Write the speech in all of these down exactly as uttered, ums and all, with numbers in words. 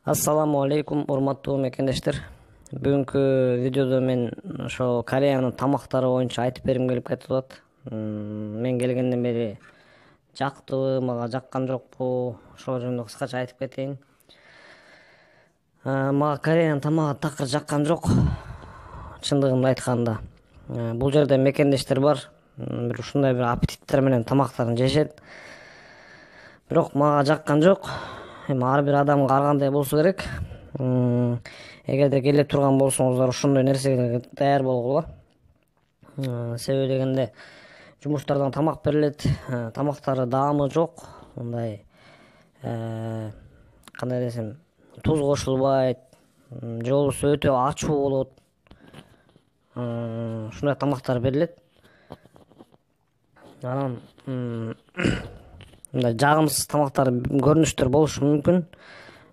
Ассаламу алейкум, урматтуу мекендештер. Бүгүнкү видеодо мен ошо Кореянын тамактары боюнча айтып бергим келип кетип атат. Мен келгенден бери жактыбы, мага жаккан жокпу, ошол жөнүндө кыскача айтып кетейин. Мага Кореянын тамагы такыр жаккан жок, чындыгын айтканда. Бул жерде мекендештер бар, бир ушундай бир аппетиттер менен тамактарын жешет. Бирок мага жаккан жок. Эми ар бир адамга ар кандай болсо керек. Эгерде келе турган болсоңуздар ошондой нерсеге даяр болгула. Себеби дегенде жумуштардан тамак берилет, тамактары даамы жок, мындай кандай десем, туз кошулбайт, же болбосо өтө ачуу болот. Ушундай тамактар берилет. Анан мындай жагымсыз тамактар, көрүнүштөр болушу мүмкүн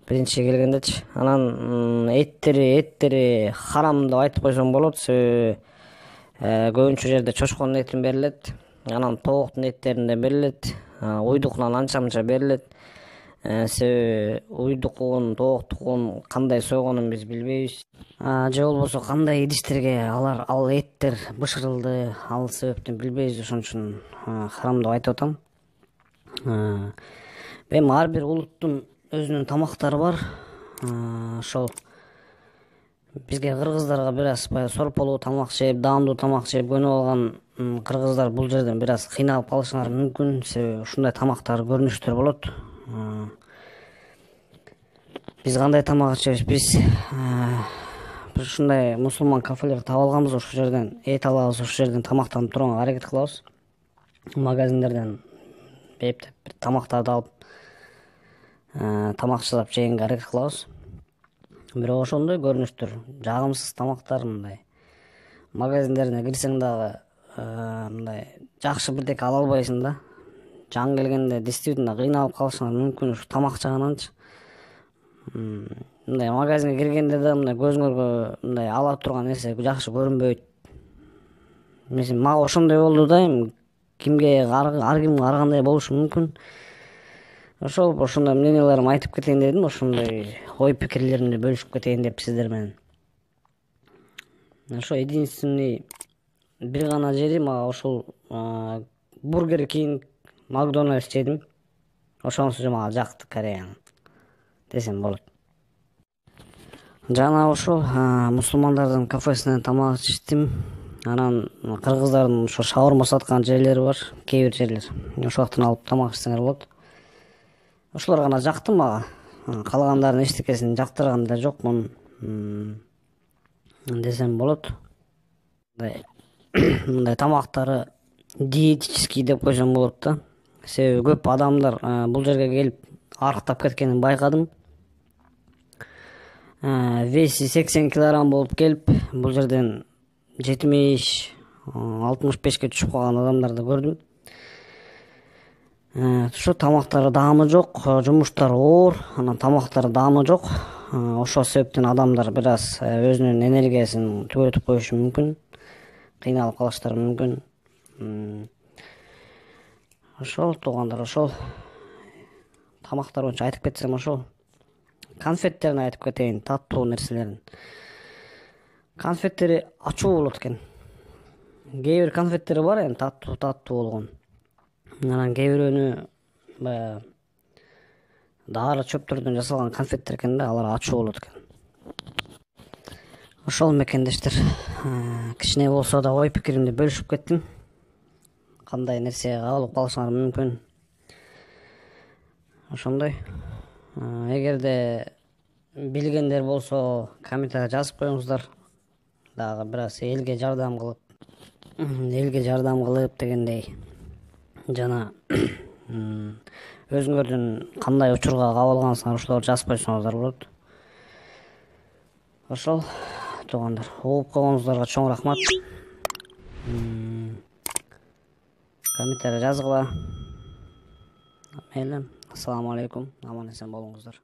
биринчи келгендечи. Анан эттери эттери харам деп айтып койсом болот. Себеби көбүнчө жерде чочконун этин берилет, анан тооктун эттерин да берилет, уйдукунан анча мынча берилет. Себеби уйдукун, тооктукун кандай сойгонун биз билбейбиз. Же болбосо кандай идиштерге алар ал эттер бышырылды, ал себептен билбейбиз. Ошон үчүн харам деп айтып атам. Эми ар бир улуттун өзүнүн тамактары бар. Ошол бизге кыргыздарга бир аз баягы сорполуу тамак жеп, даамдуу тамак жеп көнүп алган кыргыздар бул жерден бир аз кыйналып калышыңар мүмкүн. Себеби ушундай тамактар, көрүнүштөр болот. Биз кандай тамак ичебиз? Биз бир ушундай мусулман кафелер таап алганбыз. Ошол жерден эт алабыз, ошол жерден тамактанып турганга аракет кылабыз. Магазиндерден бептеп бир тамактарды алып тамак жасап жегенге аракет кылабыз. Бирок ошондой көрүнүштөр, жагымсыз тамактар, мындай магазиндерине кирсең дагы мындай жакшы бирдеке ала албайсың да. Жан келгенде действительно кыйналып калышыңар мүмкүн ушу тамак жагынанчы. Мындай магазинге киргенде да мындай көзүңөргө мындай ала турган нерсе жакшы көрүнбөйт. Мен мага ошондой болду да. Эми кимге ар кимге ар кандай болушу мүмкүн. Ошол ошондой мненияларымды айтып кетейин дедим. Ошондой ой пикирлеримди бөлүшүп кетейин деп сиздер менен. Ошо единственный бир гана жери мага ошол Бургер Кинг, Макдональдс жедим. Ошонусу мага жакты Кореянын десем болот. Жана ошол мусулмандардын кафесинен тамак ичтим. Анан кыргыздардын ошо шаурма саткан жерлери бар, кээ бир жерлер. Ошол жактан алып тамак ичсеңер болот. Ошолор гана жакты мага. Калгандардын эчтекесин жактырган да жокмун десем болот. Мындай тамактары диетический деп койсом болот да. Себеби көп адамдар бул жерге келип арыктап кеткенин байкадым. Веси сексен килограмм болуп келип, бул жерден жетимиш алтымыш бешке түшүп калган адамдарды көрдүм. Ошо тамактары даамы жок, жумуштары оор, анан тамактары даамы жок. Ошол себептен адамдар бир аз өзүнүн энергиясын түгөтүп коюшу мүмкүн, кыйналып калыштары мүмкүн. Ошол туугандар, ошол тамактар боюнча айтып кетсем, ошол конфеттерин айтып кетейин, таттуу нерселерин. Конфеттери ачуу болот экен. Кээ бир конфеттер бар эми таттуу таттуу болгон. Анан кээ бирөөнү баягы дары чөптөрдөн жасалган конфеттер экен да, алар ачуу болот экен. Ошол мекендештер, кичине болсо да ой пикиримди бөлүшүп кеттим. Кандай нерсеге кабылып калышыңар мүмкүн. Ошондой. Эгерде билгендер болсо комментарийге жазып коюңуздар. Дагы бир аз элге жардам кылып, элге жардам кылып дегендей. Жана өзүңөрдүн кандай учурга кабылгансыңар ошолорду жазып койсоңуздар болот. Ошол туугандар, угуп койгонуңуздарга чоң рахмат. Комментарий жазгыла. Мейли, ассаламу алейкум, аман эсен болуңуздар.